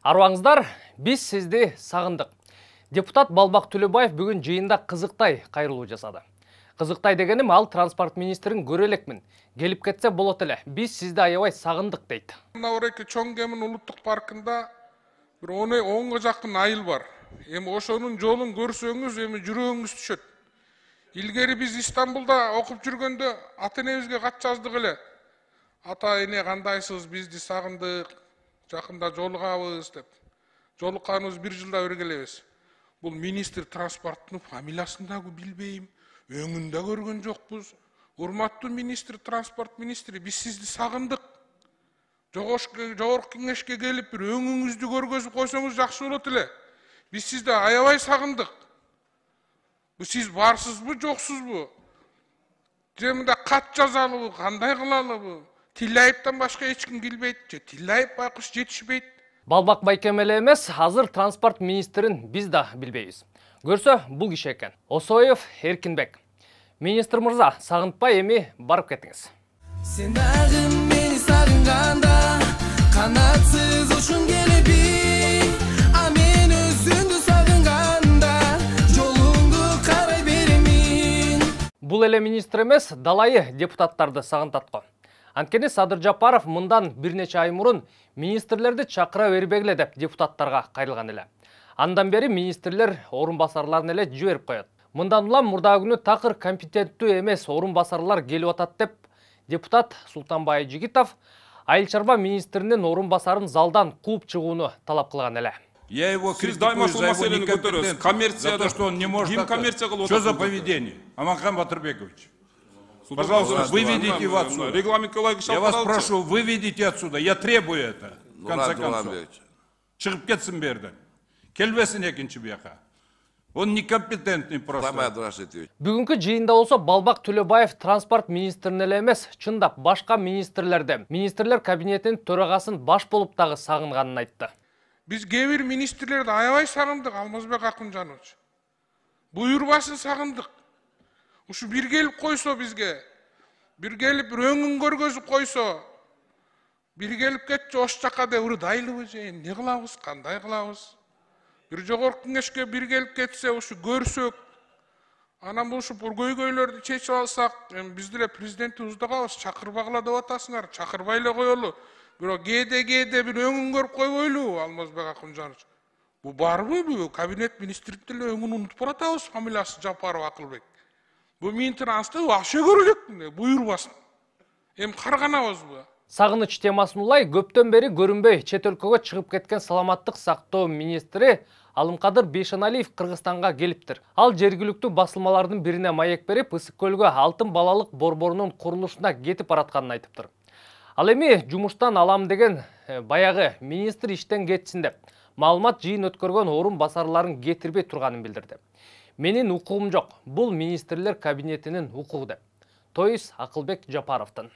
Арбаңыздар, биз сизди сагындык. Депутат Балбак Төлөбаев бүгүн жыйында кызыктай кайрылуу жасады. Кызыктай дегеним ал транспорт министрин көрө элекмин. Келип кетсе болот эле. Биз сизди аябай сагындык дейт. Навреки Чоң Кемин улуттук паркында бир 10 жакын айыл бар. Эми ошонун жолун көрсөңүз, эми жүрөгүңүз түшөт. Илгери биз Истанбулда окуп жүргөндө ата-энебизге кат жаздык эле. Ата эне кандайсыз, бизди сагындык, жакында жолугабыз деп. Жолукканыбыз 1 жылда бир келебиз. Бул министр транспорттун фамилиясын да билбейм, өңүн да көргөн жокпуз. Урматтуу министр, транспорт министри, биз сизди сагындык. Жогорку кеңешке келип бир өңүңүздү көргөзүп койсоңуз жакшы болот эле. Биз сизди аябай сагындык. Бу сиз барсызбы, жоксузбу? Же мында кат жазалыбы, кандай кылалыбы? Тилляевден башка эч ким билбейт же, Тилляев байкуш жетишпейт. Балбак Байкем эле эмес, азыр транспорт министрин биз да билбейбиз. Көрсө, бул киши экен. Осоев Эркинбек. Министр мырза, сагынтпай эми барып кетиңиз. Сен дагы мени сагынганда, канатсыз учуң келеби, а мен өзүңдү сагынганда, жолуңду карай беремин. Бул эле министр эмес, далайы депутаттарды сагынтат го. Анткени Садыр Жапаров мындан бир нече ай мурун министрлерди чакыра бербегиле деп депутаттарга кайрылган эле. Андан бери министрлер орун басарларын эле жиберип коет. Мындан улам мурда күнү такыр компетенттүү эмес орун басарлар келип атат деп депутат Султанбай Жигитов айыл чарба министринин орун басарын залдан кууп чыгууну талап кылган эле. Я его критикую за его некомпетентность, за то, что он не может... Что за поведение? Аманхан Батырбекович. Пожалуйста, выведите его отсюда. Я вас прошу, выведите отсюда. Я требую это, в конце концов. Чыгып кетсин берден. Келбесин экинчи бияка. Он некомпетентный просто. Бүгүнкү жыйында болсо Балбак Төлөбаев транспорт министрин эле эмес, чындап башка министрлерди, министрлер кабинетинин төрагасын баш болуп дагы сагынганын айтты. Биз кээ бир министрлерди аябай сагындык, Алмазбек Акунжанович. Буйрбасын сагындык. Ушу бир келип койсо бизге, бир келип бир өңүн көргөзүп койсо, бир келип кетчи ош жака деп ырдайлыбы же, эмне кылабыз, кандай кылабыз? Бир жогорку кеңешке бир келип кетсе, ушу көрсөк, анан бул ушу көйгөйлөрдү чечип алсак, биз деле президентибизди калабыз, чакырбагыла деп атасыңар, чакырбай эле коелу. Бирок кээде бир өңүн көрүп койбойлу, Алмазбек Акунжанович. Бу барбы, бу кабинет министринин деле өңүн унутуп баратабыз, фамилиясы Жапаров Акылбек. Бу министринасты вообще көрөлөк, буйрбасын. Эми карганабызбы? Сагыныч темасын улай көптөн бери көрүнбөй чет өлкөгө чыгып кеткен саламаттык сактоо министри Алымкадыр Бейшеналиев Кыргызстанга келиптир. Ал жергиликтүү басылмалардын бирине маек берип, Ысык көлгө алтын балалык борборунун курулушуна кетип баратканын айтыптыр. Ал эми жумуштан алам деген баягы министр иштен кетсин деп маалымат жыйын өткөргөн орун басарларын кетирбей турганын билдирди. Менин укугум жок, бул министрлер кабинетинин укугу деп. Тоис Акылбек Жапаровдун.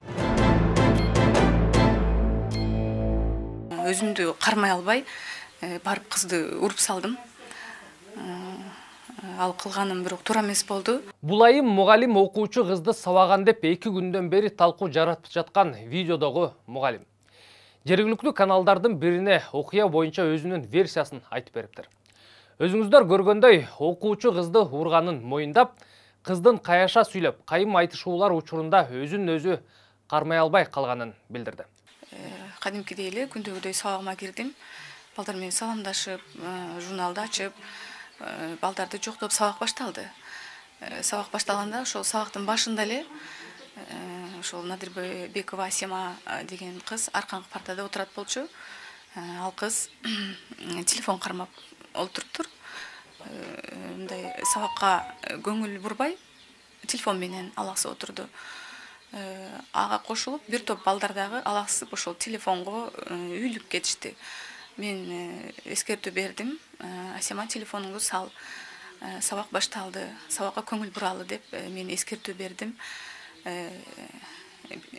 Өзүмдү кармай албай, барып кызды уруп салдым. Ал кылганым бирок туура эмес болду. Бул айым мугалим окуучу кызды сабаган деп 2 күндөн бери талкуу жаратып жаткан видеодогу мугалим. Жергиликтүү каналдардын бирине окуя боюнча өзүнүн версиясын айтып бериптир. Өзүңүздөр көргөндөй, окуучу кызды урганын моюндап, кыздын каяша сүйлөп, кайым айтышуулар учурунда өзүн өзү кармай албай калганын билдирди. Кадимкидей эле күндөгүдөй сабагыма кирдим. Балдар менен саламдашып, журналды ачып, балдарды жоктоп сабак башталды. Сабак башталганда ошол сабактын башында эле ошол Надирбекова Асема деген кыз арканкы партада отурат болчу. Ал кыз телефон кармап олтуруптур. Мындай сабакка көңүл бурбай, телефон менен алаксып отурду. Ага кошулуп бир топ балдар дагы алаксып ошол телефонго үйлүп кетишти. Мен эскертүү бердим. Асема телефонуңду сал. Сабак башталды. Сабакка көңүл буралы деп мен эскертүү бердим.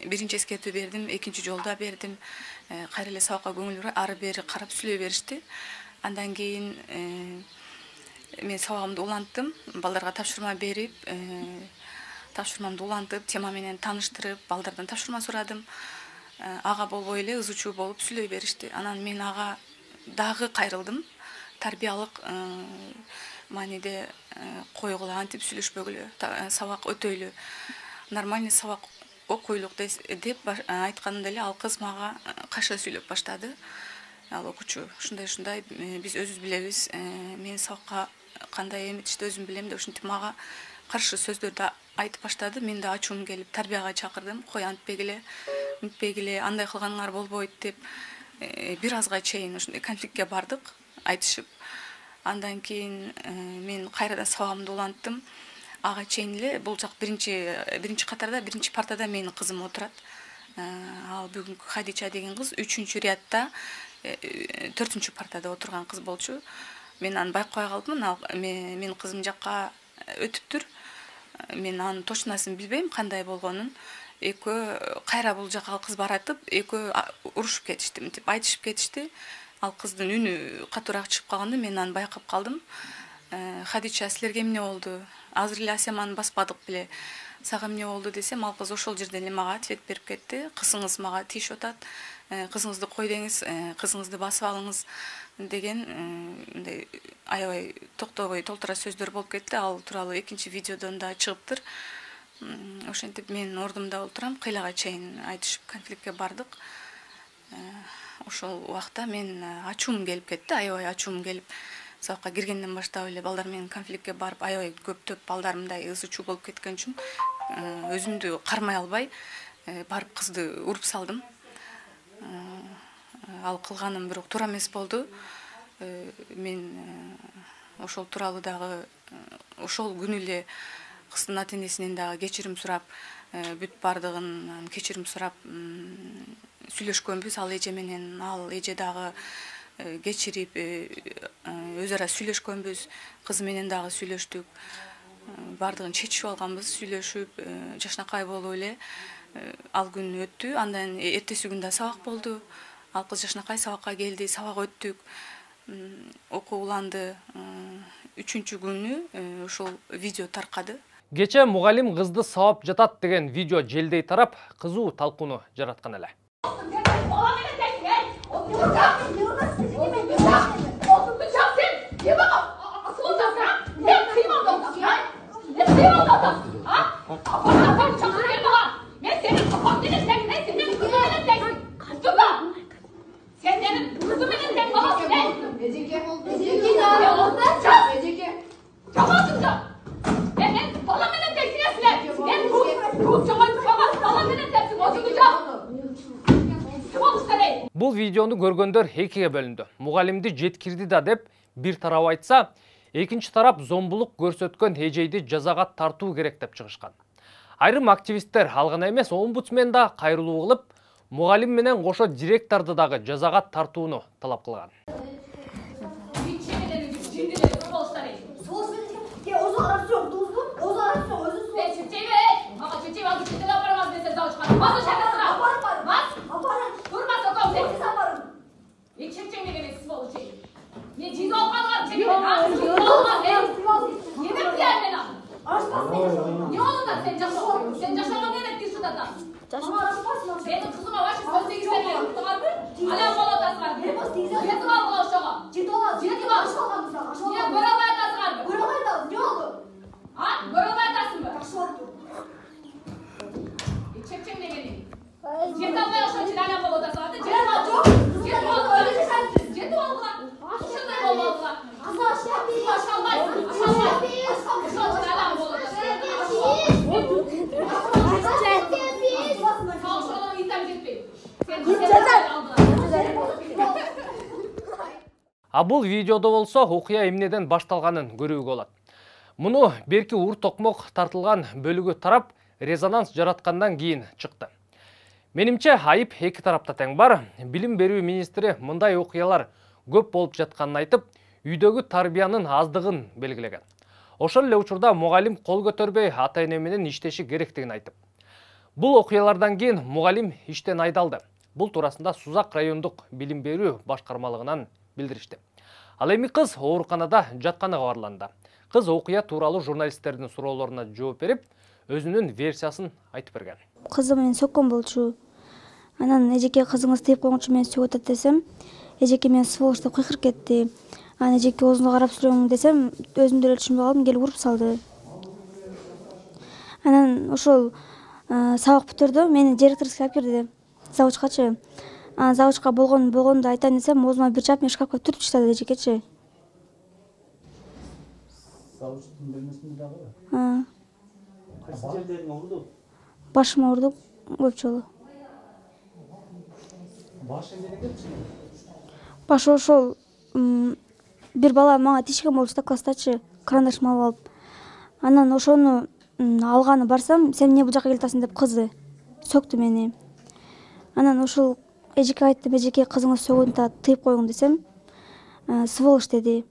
Биринчи эскертүү бердим, экинчи жолда бердим. Кайра эле сабакка көңүл бура, ары бери карап сүйлөй беришти. Андан кийин мен сабагымды уланттым, балдарга тапшырма берип, тапшырмамды улантып, тема менен тааныштырып, балдардан тапшырма сурадым. Ага болбой эле ызы чуу болуп сүйлөй беришти. Анан мен ага дагы кайрылдым. Тарбиялык мааниде койгула антип сүйлөшпөгүлө, сабак өтөйлү, нормальный сабак окуйлук деп айтканымда эле ал кыз мага кайша сүйлөп баштады. Ал окуучу ушундай биз өзүбүз билебиз, мен сабакка кандай эметишти өзүм билем деп ушинтип мага каршы сөздөрдү айтып баштады. Мен да ачуум келип тарбияга чакырдым. Кой антпегиле, үнтпегиле, андай кылганыңар болбойт деп бир азга чейин ушундай конфликтке бардык, айтышып. Андан кийин мен кайрадан сабагымды уланттым. Ага чейин эле бул жак биринчи катарда, биринчи партада менин кызым отурат. Ал бүгүнкү Хадича деген кыз 3-чү рядда 4-чү партада отурган кыз болчу. Мен аны байкабай калдым. Менин кызым жакка өтүптүр. Мен анын точносын билбейм кандай болгонун. Экөө кайра бул жака кыз баратып, экөө урушуп кетишти, мынтип айтышып кетишти. Ал кыздын үнү катуураак чыгып калганда мен аны байкап калдым. Хадича, силерге эмне болду? Азыр эле Асеманы баспадык беле. Сага эмне болду десем, ал кыз ошол жерден эле мага ответ берип кетти. Кызыңыз мага тийишип атат. Кызыңызды кой деңиз, кызыңызды басып алыңыз деген мындай аябай токтобой толтура сөздөр болуп кетти. Ал тууралуу экинчи видеодон да чыгыптыр. Ошентип мен ордумда отурам, кыйлага чейин айтышып конфликтке бардык. Ошол убакта мен ачуум келип кетти, аябай ачуум келип, сабакка киргенден баштап эле балдар менен конфликтке барып, аябай көптөп балдар мындай ызы-чуу болуп кеткен үчүн өзүмдү кармай албай барып кызды уруп салдым. Ал кылганым бирок туура эмес болду. Мен ошол тууралуу дагы ошол күнү эле кыздын ата-энесинен дагы кечирим сурап, бүт бардыгын кечирим сурап сүйлөшкөнбүз. Ал эже менен ал эже дагы кечирип өз ара сүйлөшкөнбүз. Кызы менен дагы сүйлөштүк. Бардыгын чечип алганбыз, сүйлөшүп, жашнакай болуп эле ал күн өттү. Андан эртеси күндө сабак болду. Ал кыз жашнакай сабакка келди, сабак өттүк. Окуу уланды. 3-чү күнү ошол видео таркады. Кече мугалим кызды сабап жатат деген видео желдей тарап, кызуу талкууну жараткан эле. Бул видеону көргөндөр экиге бөлүндү. Мугалимди жеткирди да деп бир тарап айтса, экинчи тарап зомбулук көрсөткөн эжейди жазага тартуу керек деп чыгышкан. Айрым активисттер ал гана эмес, омбудсмен да кайрылуу кылып, мугалим менен кошо директорду дагы жазага тартууну талап кылган. А бул видеодо болсо окуя эмнеден башталганын көрүүгө болот. Муну берки ур токмок тартылган бөлүгү тарап резонанс жараткандан кийин чыкты. Менимче айып эки тарапта тең бар. Билим берүү министри мындай окуялар көп болуп жатканын айтып, үйдөгү тарбиянын аздыгын белгилеген. Ошол эле учурда мугалим кол көтөрбөй ата-эне менен иштеши керектигин айтып. Бул окуялардан кийин мугалим иштен айдалды. Бул туурасында Сузак райондук билим берүү башкармалыгынан билдиришти. Ал эми кыз ооруканада жатканы кабарланды. Кыз окуя тууралуу журналисттердин суроолоруна жооп берип, өзүнүн версиясын айтып берген. Кызым менен соккон болчу. Анан эжеке кызыңыз тийип койгончу мени сүйүп атат десем, эжеке мени сволочь деп кыйкырып кетти. Анан эжеке оозуңду карап сүрөң десем, өзүм деле түшүнбөй калдым, келип уруп салды. Анан ошол сабак бүтөрдө мени директорский алып кирди, завучкачы. Анан завучка болгонду айтайын десем, оозума бир чаап мени шкафка түртүп таштады эжекечи. Завучтун бөлмөсүндө дагы? Кайсы жерлериңе урду? Башыма урду көп жолу. Башы эмнеге келчү? Башы ошол бир бала мага тишкен болчу да класстачы, карандашымды алып алып. Анан ошону алганы барсам, сен эмне бул жака келип атасың деп кызы сөктү мени. Анан ошол эжеке айттым, эжеке кызыңыз сөгүүнү тыйып коюң десем, сволочь деди.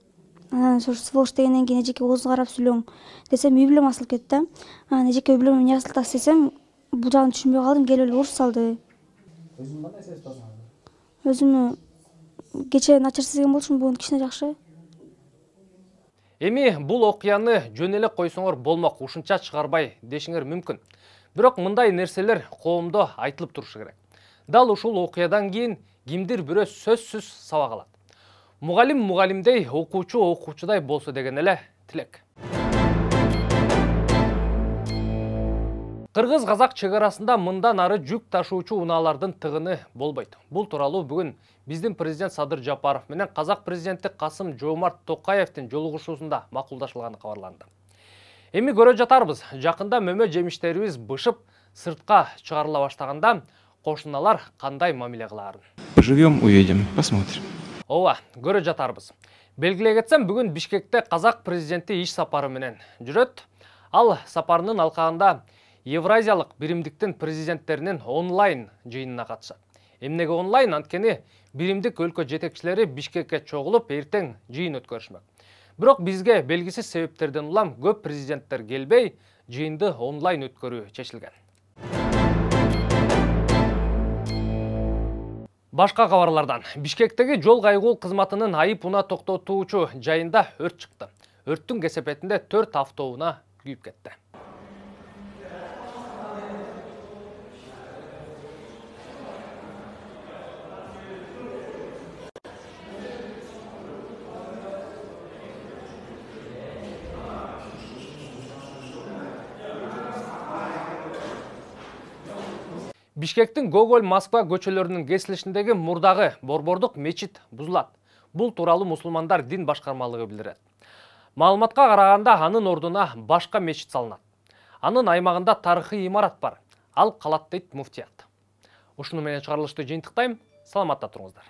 Анан ошо сволочь дегенден кийин эжеке оозуңду карап сүйлөң десем, үй бүлөм асылып кетти да. Анан эжеке үй бүлөмө эмне асылып атасыз десем, бул жагын түшүнбөй калдым, келип эле уруп салды. Өзүң кандай сезип атасың? Өзүмө кечээ начар сезген болчумун, бүгүн кичине жакшы. Эми бул окуяны жөн эле койсоңор болмок, ушунча чыгарбай дешиңер мүмкүн. Бирок мындай нерселер коомдо айтылып турушу керек. Дал ушул окуядан кийин кимдир бирөө сөзсүз сабак алат. Мугалим мугалимдей, окуучу окуучудай болсо деген эле тилек. Кыргыз-казак чек арасында мындан ары жүк ташуучу унаалардын тыгыны болбойт. Бул тууралуу бүгүн биздин президент Садыр Жапаров менен казак президенти Касым-Жомарт Токаевдин жолугушуусунда макулдашылганы кабарланды. Эми көрө жатарбыз, жакында мөмө жемиштерибиз бышып сыртка чыгарыла баштаганда кошуналар кандай мамиле кылаарын. Поживем, увидим, посмотрим. Ооба, көрө жатарбыз. Белгилей кетсем, бүгүн Бишкекте казак президенти иш сапары менен жүрөт. Ал сапарынын алкагында Евразиялык биримдиктин президенттеринин онлайн жыйынына катышат. Эмнеге онлайн? Анткени биримдик өлкө жетекчилери Бишкекке чогулуп, эртең жыйын өткөрүшмөк. Бирок бизге белгисиз себептерден улам көп президенттер келбей, жыйынды онлайн өткөрүү чечилген. Башка кабарлардан. Бишкектеги жол кайгуу кызматынын айып унаа токтотуучу жайында өрт чыкты. Өрттүн кесепетинде 4 автоунаа күйүп кетти. Бишкектин Гоголь-Москва көчөлөрүнүн кесилишиндеги мурдагы борбордук мечит бузулат. Бул тууралуу мусулмандар дин башкармалыгы билдирет. Маалыматка караганда анын ордуна башка мечит салынат. Анын аймагында тарыхый имарат бар. Ал калат дейт муфтият. Ушуну менен чыгарылышты жыйынтыктайм. Саламатта туруңуздар.